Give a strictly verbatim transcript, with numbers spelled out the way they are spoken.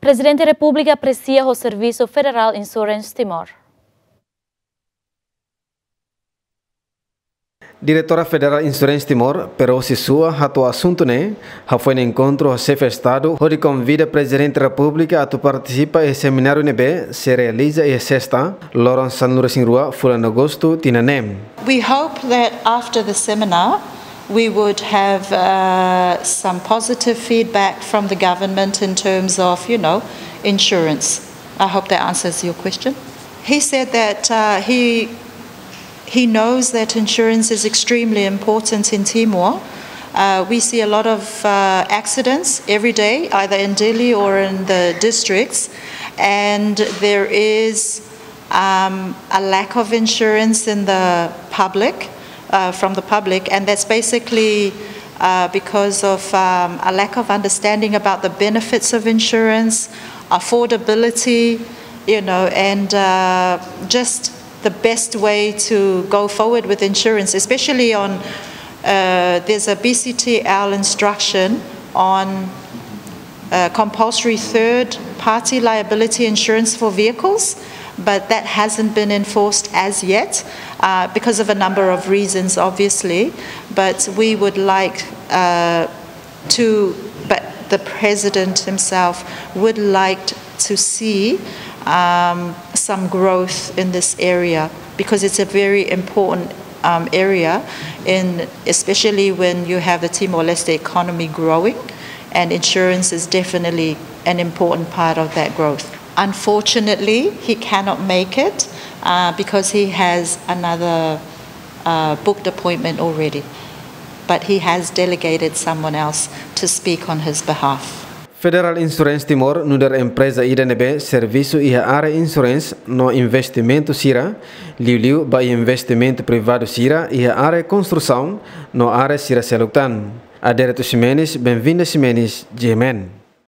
Prezidente Repúblika apresia ho servisu Federal Insurance Timor. Diretora Federal Insurance Timor, Perosi Sua, hato'o asuntu ne'e hafoin enkontru ho Xefe Estadu hodi konvida Prezidente Repúblika atu partisipa iha semináriu ne'ebé sei realiza iha Sesta, loron sanulu-resin-rua fulan Agostu tinan ne'e. We hope that after the seminar, we would have uh, some positive feedback from the government in terms of, you know, insurance. I hope that answers your question. He said that uh, he he knows that insurance is extremely important in Timor. Uh, we see a lot of uh, accidents every day, either in Dili or in the districts, and there is um, a lack of insurance in the public, uh, from the public, and that's basically uh, because of um, a lack of understanding about the benefits of insurance, affordability, you know, and uh, just the best way to go forward with insurance, especially on uh, there's a B C T L instruction on uh, compulsory third party liability insurance for vehicles, but that hasn't been enforced as yet uh, because of a number of reasons, obviously. But we would like uh, to, but the president himself would like to see um, some growth in this area because it's a very important um, area, in, especially when you have the Timor-Leste economy growing, and insurance is definitely an important part of that growth. Unfortunately, he cannot make it uh, because he has another uh, booked appointment already. But he has delegated someone else to speak on his behalf. Federal Insurance Timor nu'udar empreza ida ne'ebé servisu iha área insurance no investimentu sira, liuliu ba investimentu privadu sira iha área konstrusaun no área sira seluk tan. Adérito Ximenes, Benvinda Ximenes, G M N.